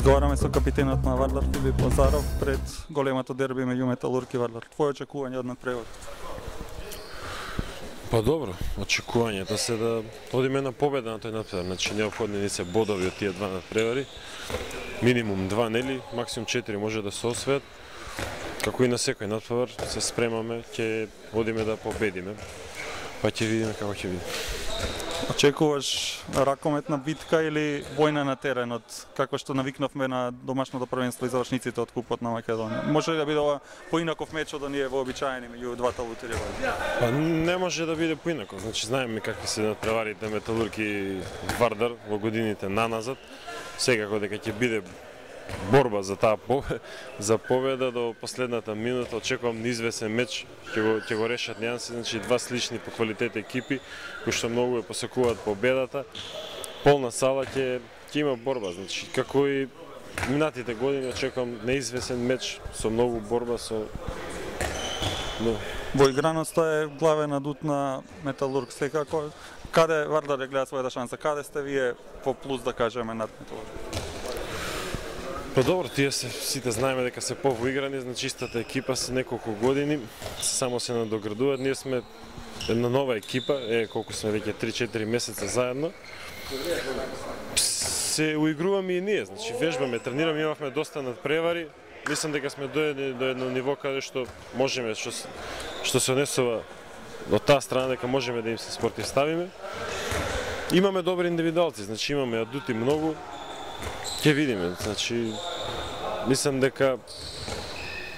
Разговараме со капитенот на Вардар Филип Лазаров пред големото дерби меѓу Металург и Вардар. Твое очекување од надпревар? Па добро, очекувањето се да одиме на победа на тој надпревар. Значи неопходни ни се бодови од тие два надпревари. Минимум 2, нели, максимум 4 може да се освојат. Како и на секој надпревар се спремаме, ќе одиме да победиме. Па ќе видиме како ќе биде. Очекуваш ракометна битка или војна на теренот, како што навикнавме на домашното првенство и завршниците од Купот на Македонија? Може ли да биде ова поинаков меч од оние вообичаени меѓу двата лутери? Па не може да биде поинаков. Значи знаеме какви се надпреварите Металург и Вардар во годините наназад. Секако дека ќе биде борба за таа победа до последната минута. Очекувам неизвесен меч, ќе го решат нијанси, значи два слични по квалитет екипи кои што многу ја посекуваат победата. Полна сала ќе има борба, значи како и минатите години очекувам неизвесен меч со многу борба Во играноста е главен адут на Металург секако. Каде Вардар ја гледа својата шанса? Каде сте вие по плюс да кажеме над Металург? Па добро, тие сите знаеме дека се повоиграни, значи истата екипа се неколку години, само се надоградуваат. Ние сме една нова екипа, колку сме веќе 3-4 месеца заедно. Се уигруваме и ние, значи вежбаме, тренираме, имавме доста надпревари. Мислам дека сме дојдени до едно ниво каде што можеме, што се однесува од таа страна, дека можеме да им се спротивставиме. Имаме добри индивидуалци, значи имаме адути многу. Ќе видиме, значи мислам дека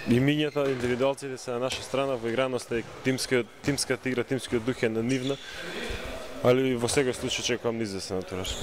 имињата, индивидуалците се на наша страна, во играноста е тимската игра, тимскиот дух е на нивна, али во секој случај чекувам неизвестен натураж.